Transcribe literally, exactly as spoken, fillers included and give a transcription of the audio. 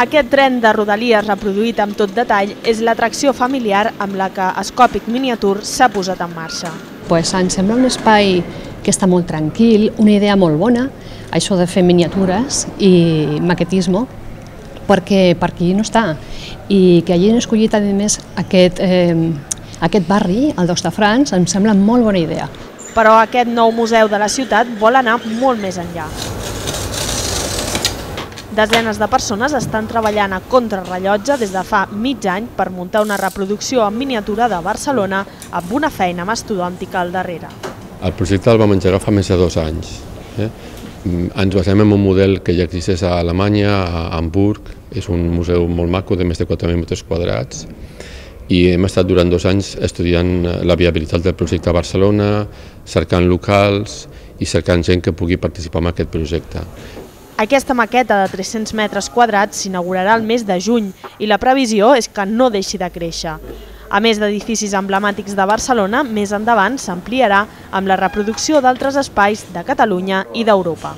Aquest tren de Rodalies reproduït amb tot detall és l'atracció familiar amb la que Scòpic Miniature s'ha posat en marxa. Pues em sembla un espai que està molt tranquil, una idea molt bona, això de fer miniatures i maquetisme, perquè per aquí no està. I que hagin escollit a més aquest, eh, aquest barri, el d'Hostafrancs, em sembla molt bona idea. Però aquest nou museu de la ciutat vol anar molt més enllà. Desenes de persones estan treballant a contrarrellotge des de fa mig any per muntar una reproducció en miniatura de Barcelona amb una feina mastodòntica al darrere. El projecte el vam engegar fa més de dos anys. Eh? Ens basem en un model que ja existeix a Alemanya, a Hamburg. És un museu molt maco de més de quatre mil metres quadrats i hem estat durant dos anys estudiant la viabilitat del projecte a Barcelona, cercant locals i cercant gent que pugui participar en aquest projecte. Aquesta maqueta de tres-cents metres quadrats s'inaugurarà el mes de juny i la previsió és que no deixi de créixer. A més d'edificis emblemàtics de Barcelona, més endavant s'ampliarà amb la reproducció d'altres espais de Catalunya i d'Europa.